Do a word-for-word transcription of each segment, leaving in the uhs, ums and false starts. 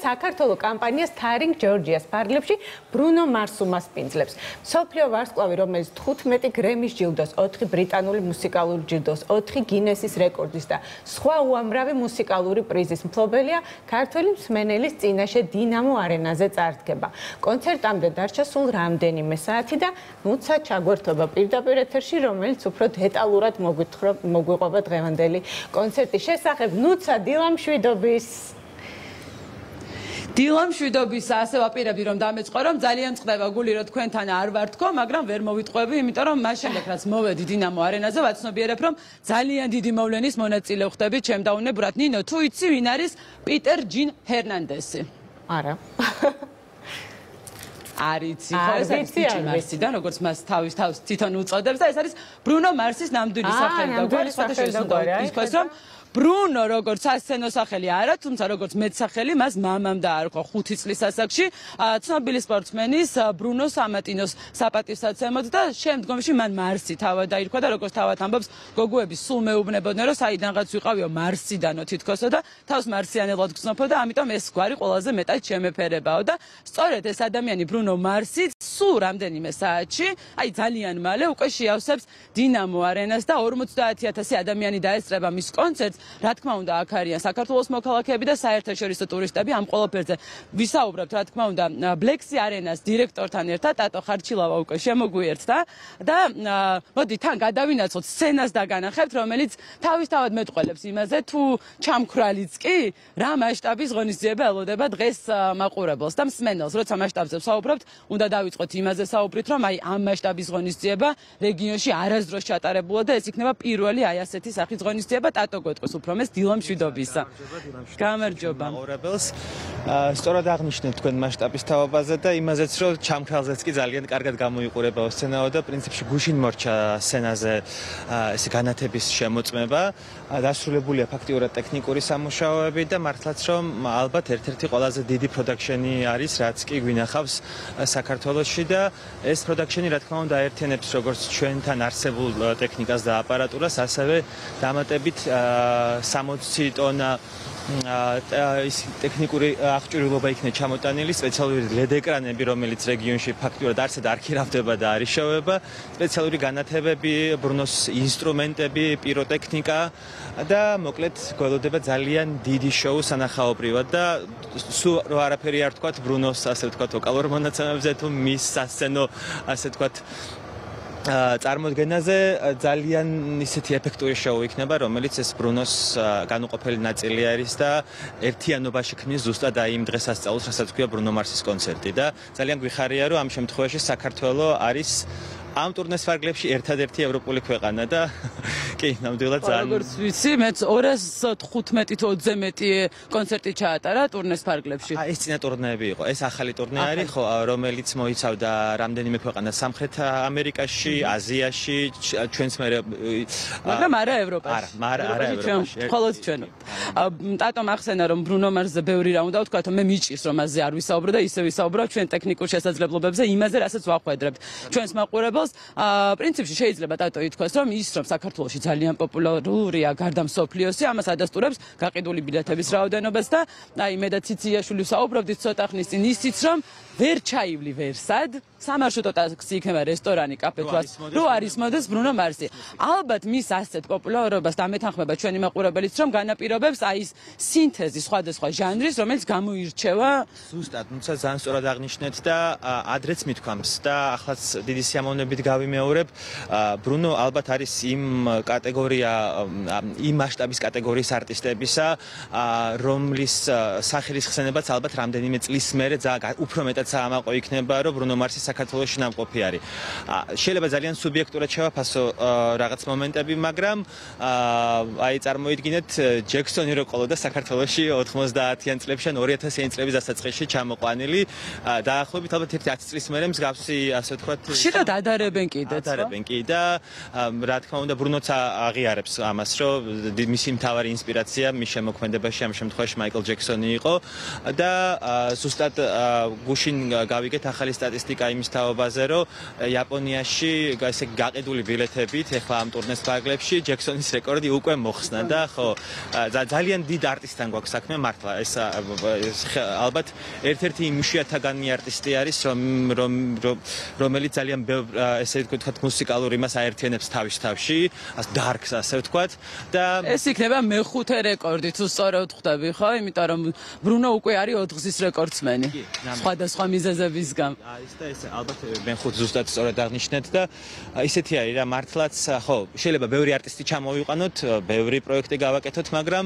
საქართველოს კამპანია Starring Georgia's ფარგლებში ბრუნო მარს უმასპინძლებს. მსოფლიო ვარსკვლავი, რომელიც თხუთმეტი გრემის ჯილდოს, ოთხი ბრიტანული მუსიკალური ჯილდოს, ოთხი გინესის რეკორდის და სხვა უამრავი მუსიკალური პრიზის მფლობელია, ქართველი მსმენელის წინაშე დინამო არენაზე წარდგება. კონცერტამდე დარჩა სულ რამდენიმე საათი და ნუცა ჩაგვერთობა პირდაპირ ეთერში, რომელიც უფრო დეტალურად მოგვიყვება დღევანდელი კონცერტის შესახებ. ნუცა დილამ შვიდობის. დილამ შვიდობის ასე ვაპირებდი რომ დამეწყო რომ ძალიან წდება გული რომ თქვენთან არ ვარ თქო, მაგრამ ვერ მოვიტყვები, იმიტომ რომ მას შემდეგ რაც მოვედი დინამო არენაზე, ვაცნობიერებ რომ ძალიან დიდი მოვლენის მონაწილე ხდები ჩემ დაუნებურად. ნინო, თუ იცი ვინ არის პიტერ ჯინ ჰერნანდესი? არა. არიცი, ხო, ეს არის პიტერ მარსიდან, როგორც მას თავის თავს თვითონ უწოდებს და ეს არის ბრუნო მარსის ნამდვილი სახელი და გვარი სხვადასხვა ის რომ ბრუნო როგორც სასცენო სახელი არა, თუმცა როგორც მეტსახელი მას მამამ დაარქვა ხუთი წლის ასაკში, ცნობილი სპორტსმენის ბრუნო სამატინოს საპატივსაცემად და შემდგომში მან მარსი თავად დაირქვა და როგორც თავად ამბობს, გოგოები სულ მეუბნებოდნენ რომ საიდანღაც ვიყავიო მარსიდანო თითქოსო და თავს მარსიანელად გრძნობოდა, ამიტომ ეს გვარი ყველაზე მეტად შემეფერებაო და სწორედ ეს ადამიანი ბრუნო მარსი სულ რამდენიმე საათში, აი ძალიან მალე უკვე შეავსებს დინამო არენას და ორმოცდაათი ათასი ადამიანი დაესწრება მის კონცერტს. რა თქმა უნდა, აქ არიან საქართველოს მოქალაქეები და საერთაშორისო ტურისტები. ამ ყველაფერზე ვისაუბრებთ, რა თქმა უნდა, ბლექსი არენას დირექტორთან ერთად, ტატო ხარჩილავა უკვე შემოგვიერთდა და მოდი თან გადავინაცვლოთ სცენას და განახებთ, რომელიც თავისთავად მეტყველებს იმაზე, თუ ჩამქრალიც კი რა მასშტაბის ღონისძიება ელოდება დღეს მაყურებელს და მსმენელს. როცა მასშტაბზე ვსაუბრობთ, უნდა დავიწყოთ იმაზე საუბრით, რომ აი ამ მასშტაბის ღონისძიება რეგიონში არასდროს ჩატარებულა და ეს იქნება პირველი აი ასეთი სახის ღონისძიება. ტატო გეტყვის უფრო მეს დილამ შვიდობისა. გამარჯობა. მაყურებელს სწორად აღნიშნეთ თქვენ მასშტაბის თაობაზე და იმაზეც რომ ჩამქრალზეც კი ძალიან კარგად გამოიყურებაო სცენაო და პრინციპში გუშინ მორჩა სცენაზე ესე განათების შემოწმება. დასრულებულია ფაქტიურად ტექნიკური სამუშაოები და მართლაც რომ ალბათ ერთ-ერთი ყველაზე დიდი პროდაქშენი არის, რაც კი გვინახავს საქართველოში და ეს პროდაქშენი რა თქმა უნდა აერთიანებს როგორც ჩვენთან არსებულ ტექნიკას და აპარატურას, ასევე დამატებით სამოცი ტონა ის ტექნიკური აღჭურვილობა იქნება ჩამოტანილი, სპეციალური ლედ ეკრანები, რომელიც რეგიონში ფაქტიურად არსად არ ქირავდება და არ იშოვება, სპეციალური განათებები, ბრუნოს ინსტრუმენტები, პიროტექნიკა და მოკლედ გველოდება ძალიან დიდი შოუ სანახაობრივად და სულ რო არაფერი არ თქვათ ბრუნოს ასე ვთქვათ ვოკალურ მონაცემებზე თუ მის სასცენო ასე ვთქვათ წარმოდგენაზე ძალიან ისეთი ეფექტური შოუ იქნება, რომელიც ეს ბრუნოს განუყოფელი ნაწილი არის და ერთიანობაში ქმნის ზუსტად აი იმ დღესასწაულს, რასაც ქვია ბრუნო მარსის კონცერტი და ძალიან გვიხარია, რომ ამ შემთხვევაში საქართველოს არის ამ ტურნეს ფარგლებში ერთადერთი ევროპული ქვეყანა და კი, ნამდვილად ძალიან როგორც ვიცი, მეც ორას თხუთმეტი თუ ოცზე მეტი კონცერტი ჩაატარა ტურნეს ფარგლებში. აი ეს წინა ტურნეები იყო, ეს ახალი ტურნე არის, ხო, რომელიც მოიცავდა რამდენიმე ქვეყანას სამხრეთ ამერიკაში, აზიაში, ჩვენს მე მაგრამ არა ევროპაში. არა, არა, არა ევროპაში. მხოლოდ ჩვენო. ტატომ ახსენა რომ ბრუნო მარსზე ბევრი რა უნდა ვთქვა, მე მიჭირს რომ მასზე არ ვისაუბრო და ისე ვისაუბრო ჩვენ ტექნიკურ შესაძლებლობებზე, იმაზე რასაც ვახვედრებთ. ჩვენს მაყურებელს პრინციპში შეიძლება ტატო ითქვას, რომ ის რომ საქართველოში ძალიან პოპულარულია გარდა მსოფლიოსი, ამას ადასტურებს გაყიდული ბილეთების რაოდენობას და აი მე და ციციაში ვსაუბრობდით ცოტა ხნის წინ ისიც რომ ვერ ჩაივლი ვერსად, სამარშრუტო ტაქსი იქნება რესტორანი, კაფე თვას, რო არის მოდეს ბრუნო მარსი. ალბათ მის ასეთ პოპულარობას დამეთანხმება ჩვენი მაყურებელიც, რომ განაპირობებს აი ეს სინთეზი სხვადასხვა ჟანრის, რომელიც გამოირჩევა ზუსტად, თუმცა ძალიან სწორად აღნიშნეთ და ადრეც მithქვამს და ახლაც დიდი სიამოვნებით გავიმეორებ, ბრუნო ალბათ არის იმ კატეგორია, იმ მასშტაბის კატეგორიის არტისტებისა, რომლის სახელის ხსენებაც ალბათ რამდენიმე წლის მერე უფრო მეტად საამაყო იქნება, რომ ბრუნო მარსი საქართველოში ნამყოფი არის. შეიძლება ძალიან სუბიექტურად შევაფასო რაღაც მომენტები, მაგრამ აი წარმოიდგინეთ ჯექსონი რო ყოლოდა საქართველოში ოთხმოცდაათიან წლებში ან ორი ათასიან წლების დასაწყისში ჩამოყვანილი, დაახლოებით ალბათ ერთი ათი წლის მერე მსგავსი ასე ვთქვათ ხშირად ადარებენ კიდეც, ხო? ადარებენ კი და რა თქმა უნდა ბრუნოც აღიარებს ამას, რომ მისი მთავარი ინსპირაცია მის შემოქმედებაში ამ შემთხვევაში მაიკლ ჯექსონი იყო და ზუსტად გუშინ გავიგეთ ახალი სტატისტიკა იმ იმის თაობაზე, რომ იაპონიაში ესე გაყიდული ბილეთებით ეხლა ამ ტურნეს ფარგლებში ჯექსონის რეკორდი უკვე მოხსნა და ხო ძალიან დიდ არტისტთან გვაქვს საქმე მართლა ეს ალბათ ერთ-ერთი იმშიათაგანი არტისტი არის რომ რომელიც ძალიან ესე ვთქვათ მუსიკალურ იმას აერთიანებს თავის თავში ას დარკს ასე ვთქვათ და ეს იქნება მეხუთე რეკორდი თუ სწორად ხვდები ხო იმიტომ რომ ბრუნო უკვე არის ოთხგზის რეკორდსმენი სხვადასხვა მიზეზების გამო არის და ეს ალბათ მეხუთე ზუსტად სწორად აღნიშნეთ და ისეთი არის რა მართლაც ხო შეიძლება ბევრი არტისტი ჩამოვიყვანოთ ბევრი პროექტი გავაკეთოთ მაგრამ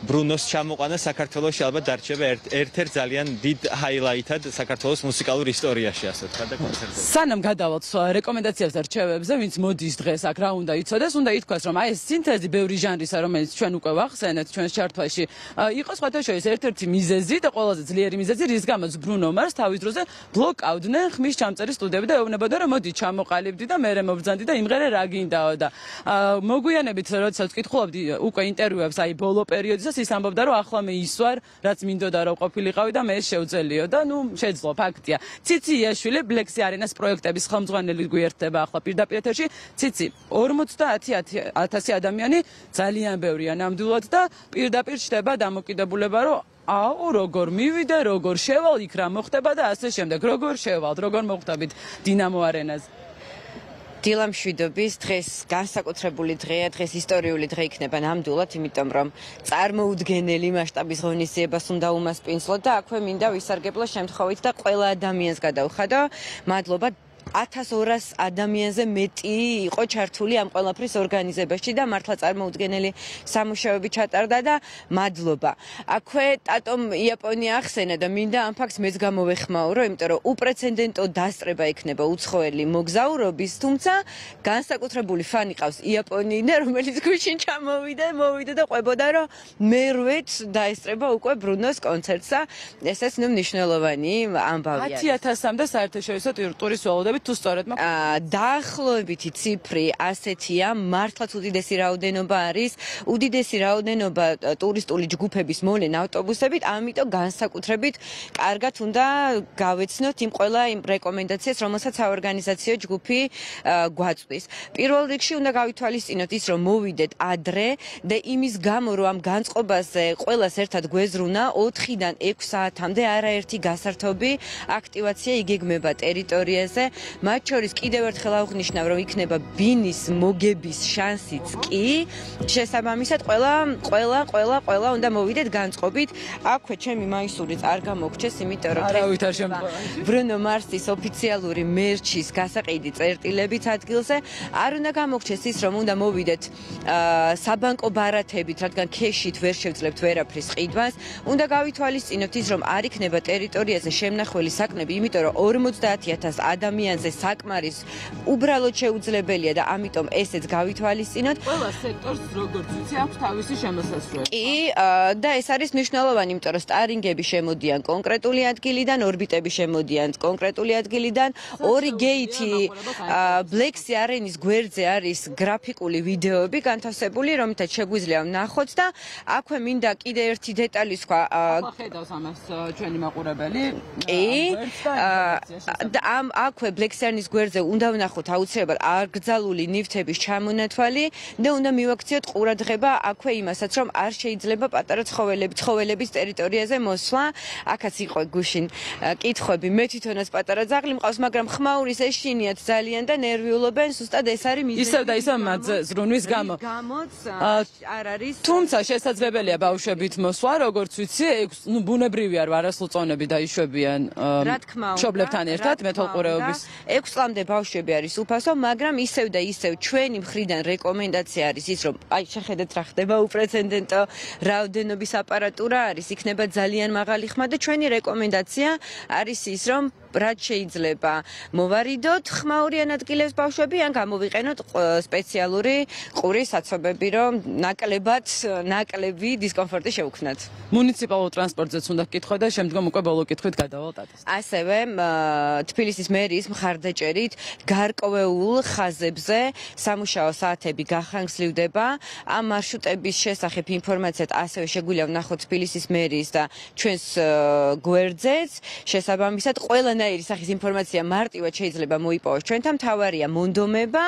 ბრუნოს ჩამოყვანა საქართველოში ალბათ დარჩება ერთ-ერთ ძალიან დიდ ჰაილაითად საქართველოს მუსიკალურ ისტორიაში ასე ვთქვათ და კონცერტებზე სანამ გადავალთ რეკომენდაციებს და რჩევებზე ვინც მოდის დღეს აქ რა უნდა იცოდეს უნდა ითქვას რომ აი ეს სინთეზი ბევრი ჟანრისა რომელიც ჩვენ უკვე ვახსენეთ ჩვენს ჩარტვაში იყო სხვათა შორის ერთ-ერთი მიზეზი და ყველაზე ძლიერი მიზეზი რის გამოც ბრუნო მარს თავის დროზე ბლოკაუდნენ ხმის ჩამწერი სტუდიები და ეუბნებოდა რომ მოდი ჩამოყალიბდი და მე მებრძანდი და იმღერე რა გინდაო და მოგვიანებით როდესაც ვკითხულობდი უკვე ინტერვიუებს აი ბოლო პერიოდისას ის ამბობდა რომ ახლა მე ისვარ რაც მინდოდა რომ ყოფილიყავი და მე შეუძლიო და ნუ შეძლო ფაქტია ციცი იაშვილი ბლექსი არენას პროექტების ხელმძღვანელი გვერდება ახლა პირდაპირ ეთერში ციცი ორმოცდაათი ათასი ადამიანი ძალიან ბევრია ნამდვილად და პირდაპირ ჩდება დამოკიდებულება რომ აუ როგორ მივიდე როგორ შევალ იქ რა მოხდება და ასე შემდეგ როგორ შევალ როგორ მოხვდებით დინამო არენაზე დილამშვიდობის დღეს განსაკუთრებული დღეა დღეს ისტორიული დღე იქნება ნამდვილად იმიტომ რომ წარმოუდგენელი მასშტაბის ღონისძიებას უნდა უმასპინძლოთ და აქვე მინდა ვისარგებლო შემთხვევით და ყველა ადამიანს გადავხადო მადლობა ათას ორას ადამიანზე მეტი იყო ჩართული ამ ყველაფრის ორგანიზებაში და მართლა წარმოუდგენელი სამუშაოები ჩატარდა და მადლობა. აქვე ტატომ იაპონია ახსენა და მინდა ამ ფაქტს მეც გამოვეხმაურო, იმიტომ რომ უპრეცედენტო დასწრება იქნება უცხოელი მოგზაურობის, თუმცა განსაკუთრებული ფანი ყავს იაპონიიდან, რომელიც გუშინ ჩამოვიდა, მოვიდა და ყვებოდა, რომ მერვეც დაესწრება უკვე ბრუნოს კონცერტს და ესეც ნუ მნიშვნელოვანი ამბავი არის. ათი ათასამდე საერთაშორისო ტურის ველოდები თუ სწორედ მაქვს დაახლოებითი ციფრი ასეთია მართლაც უდიდესი რაოდენობა არის უდიდესი რაოდენობა ტურისტული ჯგუფების მოვლენ ავტობუსებით ამიტომ განსაკუთრებით კარგად უნდა გავეცნოთ იმ ყველა იმ რეკომენდაციას რომელსაც საორგანიზაციო ჯგუფი გვაწვდის პირველ რიგში უნდა გავითვალისწინოთ ის რომ მოვიდეთ ადრე და იმის გამო რომ ამ განწყობაზე ყველას ერთად გვეზრუნა ოთხიდან ექვს საათამდე არაერთი გასართობი აქტივაცია იგეგმება ტერიტორიაზე მათ შორის კიდევ ერთხელ აღნიშნავ რომ იქნება ბინის მოგების შანსიც კი შესაბამისად ყველა ყველა ყველა ყველა უნდა მოვიდეთ განწყობით აქვე ჩემი მაისურიც არ გამოგჩეს იმიტომ რომ არავით არ შემთხვევაში ბრუნო მარსის ოფიციალური მერჩის გასაყიდი წერტილებიც ადგილზე არ უნდა გამოგჩეს ის რომ უნდა მოვიდეთ საბანკო ბარათებით რადგან ქეშით ვერ შევძლებთ ვერაფრის ყიდვას უნდა გავითვალისწინოთ ის რომ არ იქნება ტერიტორიაზე შემნახველი საკმები იმიტომ რომ ორმოცდაათი ათას ადამიანზე საკმარის უბრალოდ შეუძლებელია და ამიტომ ესეც გავითვალისწინოთ. ყველა სექტორს როგორც ვიცი აქვს თავისი შემოსასვლელი. კი და ეს არის მნიშვნელოვანი, იმიტომ რომ სტარინგები შემოდიან კონკრეტული ადგილიდან, ორბიტები შემოდიან კონკრეტული ადგილიდან, ორი გეითი ბლექსი არენის გვერდზე არის გრაფიკული ვიდეოები განთავსებული, რომელთაც შეგვიძლია ვნახოთ და აქვე მინდა კიდე ერთი დეტალი სხვა ხედავს ამას ჩვენი მაყურებელი. კი და ამ აქვე ბლექსიანის გვერდზე უნდა ვნახოთ აუცილებლად აკრძალული ნივთების ჩამონათვალი და უნდა მივაქციოთ ყურადღება აქვე იმასაც რომ არ შეიძლება პატარა ცხოველები ცხოველების ტერიტორიაზე მოსვლა აქაც იყო გუშინ კითხვები მე თვითონაც პატარა ძაღლი მყავს მაგრამ ხმაურის ეშინიათ ძალიან და ნერვიულობენ ზუსტად ეს არის მიზეზი ისევ და ისევ მათზე ზრუნვის გამო გამოც არ არის თუმცა შესაძლებელია ბავშვებით მოსვლა როგორც ვიცი ნუ ბუნებრივია რომ არასრულწლოვნები დაიშვებიან მშობლებთან ერთად მეთვალყურეობის ექვს წლამდე ბავშვები არის უფასო, მაგრამ ისევ და ისევ ჩვენი მხრიდან რეკომენდაცია არის ის, რომ აი შეხედეთ რა ხდება უპრეცედენტო რაოდენობის აპარატურა არის, იქნება ძალიან მაღალი ხმა და ჩვენი რეკომენდაცია არის ის, რომ რაც შეიძლება მოვარიდოთ ხმაურიან ადგილებს ბავშვები ან გამოვიყენოთ სპეციალური ყურის საცობები, რომ ნაკლებად ნაკლები დისკომფორტი შეუქმნათ. მუნიციპალურ ტრანსპორტზეც უნდა გკითხო და შემდგომ უკვე ბოლო კითხვით გადავალ ტატას. ასევე თბილისის მერის მხარდაჭერით გარკვეულ ხაზებზე სამუშაო საათები გახანგრძლივდება. ამ მარშრუტების შესახებ ინფორმაციად ასევე შეგვიძლია ვნახოთ თბილისის მერის და ჩვენს გვერდზეც. შესაბამისად, ყველა სხვანაირი სახის ინფორმაცია მარტივად შეიძლება მოიპოვოს ჩვენთან, მთავარია მონდომება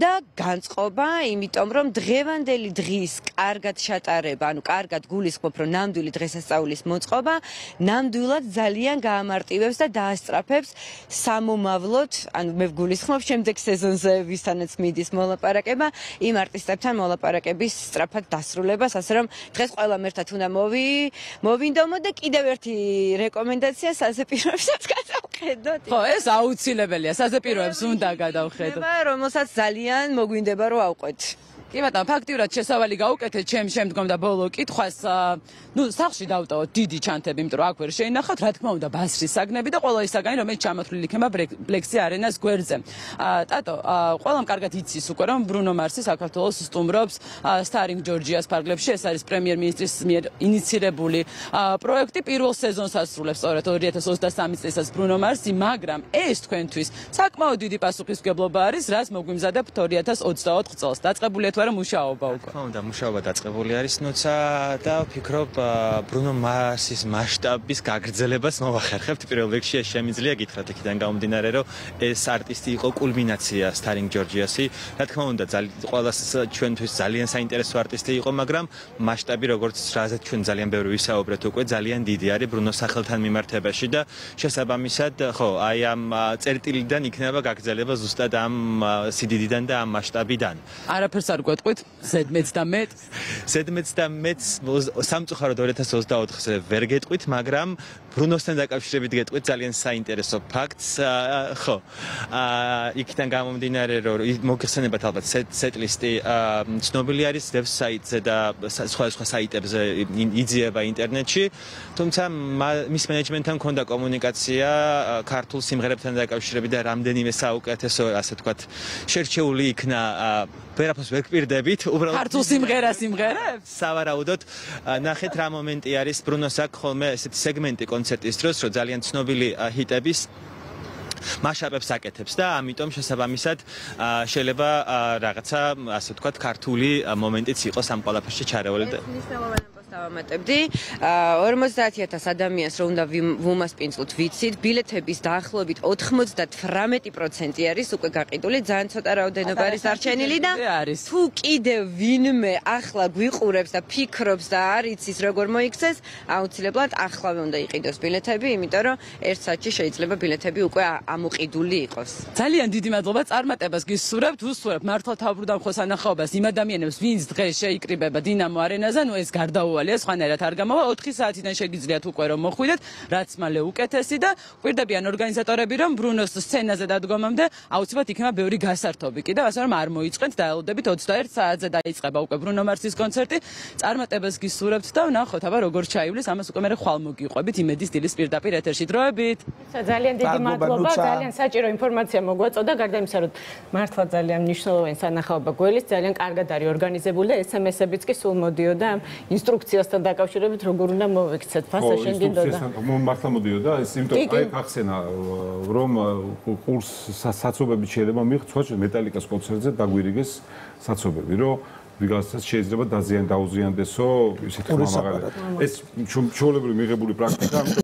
და განწყობა, იმიტომ რომ დღევანდელი დღის კარგად შეტარება, ანუ კარგად გულისხმობ, რომ ნამდვილი დღესასწაულის მოწყობა ნამდვილად ძალიან გაამარტივებს და დაასწრაფებს სამომავლოდ, ანუ მე ვგულისხმობ შემდეგ სეზონზე ვისთანაც მიდის მოლაპარაკება, იმ არტისტებთან მოლაპარაკების სწრაფად დასრულებას, ასე რომ დღეს ყველამ ერთად უნდა მოვი მოვინდომო და კიდევ ერთი რეკომენდაცია საზეპიროებსაც გადავხედოთ. ხო, ეს აუცილებელია, საზეპიროებს უნდა გადავხედოთ. რომელსაც ძალიან მოგვინდება რომ ავყვეთ. კი ბატონო, ფაქტიურად შესავალი გაუკეთეთ ჩემ შემდგომ და ბოლო კითხვას, ნუ სახლში დავტოვოთ დიდი ჩანთები, იმიტომ რომ აქ ვერ შეინახავთ, რა თქმა უნდა, ბასრის საგნები და ყველა ის საგანი, რომელიც ჩამოთვლილი იქნება ბლექსი არენას გვერდზე. ტატო, ყველამ კარგად იცის უკვე, რომ ბრუნო მარსი საქართველოს სტუმრობს სტარინგ ჯორჯიას ფარგლებში, ეს არის პრემიერ-მინისტრის მიერ ინიცირებული პროექტი, პირველ სეზონს ასრულებს სწორედ ორი ათას ოცდასამი წელს ბრუნო მარსი, მაგრამ ეს თქვენთვის საკმაოდ დიდი პასუხისმგებლობა არის, რაც მოგვიმზადებთ ორი ათას ოცდაოთხ წელს. დაწყებულია თუ არა მუშაობა უკვე? ხო, და მუშაობა დაწყებული არის, ნუცა და ვფიქრობ ბრუნო მარსის მასშტაბის გაგრძელებას მოვახერხებთ. პირველ რიგში ეს შემიძლია გითხრათ იქიდან გამომდინარე, რომ ეს არტისტი იყო კულმინაცია სტარინგ ჯორჯიასი. რა თქმა უნდა, ყველას ჩვენთვის ძალიან საინტერესო არტისტი იყო, მაგრამ მასშტაბი, როგორც რაზეც ჩვენ ძალიან ბევრი ვისაუბრეთ უკვე, ძალიან დიდი არის ბრუნოს სახელთან მიმართებაში და შესაბამისად, ხო, აი ამ წერტილიდან იქნება გაგრძელება ზუსტად ამ სიდიდიდან და ამ მასშტაბიდან. არაფერს არ გვეტყვით, ზედმეც და მეტ. ზედმეც და მეტ სამწუხაროდ ორი ათას ოცდაოთხზე ვერ გეტყვით, მაგრამ ბრუნოსთან დაკავშირებით გეტყვით ძალიან საინტერესო ფაქტს. ხო, იქიდან გამომდინარე, რომ მოგხსენებათ ალბათ სეტლისტი ცნობილი არის ვებსაიტზე და სხვა სხვა საიტებზე იძიება ინტერნეტში, თუმცა მის მენეჯმენტთან ჰქონდა კომუნიკაცია ქართულ სიმღერებთან დაკავშირებით და რამდენიმე საუკეთესო, ასე ვთქვათ, შერჩეული იქნა ვერაფერს ვერ გპირდებით, უბრალოდ ქართულ სიმღერას სიმღერებს? სავარაუდოდ, ნახეთ რა მომენტი არის ბრუნოს აქ ხოლმე ესეთი სეგმენტი კონცერტის დროს, რომ ძალიან ცნობილი ჰიტების მასშტაბებს აკეთებს და ამიტომ შესაბამისად შეიძლება რაღაცა, ასე ვთქვათ, ქართული მომენტიც იყოს ამ ყველაფერში ჩარეული და დავამატებდი. ორმოცდაათი ათას ადამიანს რომ უნდა ვუმასპინძლოთ ვიცით, ბილეთების დაახლოებით ოცდათვრამეტი პროცენტი არის უკვე გაყიდული, ძალიან ცოტა რაოდენობა არის დარჩენილი და თუ კიდევ ვინმე ახლა გვიყურებს და ფიქრობს და არ იცის როგორ მოიქცეს, აუცილებლად ახლავე უნდა იყიდოს ბილეთები, იმიტომ რომ ერთ საათში შეიძლება ბილეთები უკვე ამოყიდული იყოს. ძალიან დიდი მადლობა წარმატებას გისურვებთ, უსურვებთ მართლა თავბრუდამხო სანახაობას იმ ადამიანებს, ვინც დღეს შეიკრიბება დინამო არენაზე, ნუ ეს გარდაუვალია, სხვანაირად არ გამოვა, ოთხი საათიდან შეგიძლიათ უკვე რომ მოხვიდეთ, რაც მალე უკეთესი და გვირდებიან ორგანიზატორები, რომ ბრუნოს სცენაზე დადგომამდე აუცილებლად იქნება ბევრი გასართობი კიდევ, ასე რომ არ მოიწყენთ, დაელოდებით ოცდაერთ საათზე დაიწყება უკვე ბრუნო მარსის კონცერტი. წარმატებას გისურვებთ და ვნახოთ, აბა როგორ ჩაივლის, ამას უკვე მე ხვალ მოგიყვებით იმედის დილის პირდაპირ ეთერში. დროებით. ძალიან დიდი მადლობა, ძალიან საჭირო ინფორმაცია მოგვაწოდა, გარდა იმისა, რომ მართლა ძალიან მნიშვნელოვანი სანახაობა გველის, ძალიან კარგად არის ორგანიზებული და ეს em es-ებიც კი სულ მოდიოდა ამ ინსტრუქციასთან დაკავშირებით, როგორ უნდა მოვიქცეთ. ფასა შენ გინდოდა? მართლა მოდიოდა, ეს იმიტომ აი ახსენა, რომ კურს საცობებით შეიძლება მიიღწვა მეტალიკას კონცერტზე დაგვირიგეს საცობები, რომ ვიღაცას შეიძლება დაზიან დაუზიანდესო, ისეთი ხმამაღალი. ეს ჩვეულებრივი მიღებული პრაქტიკა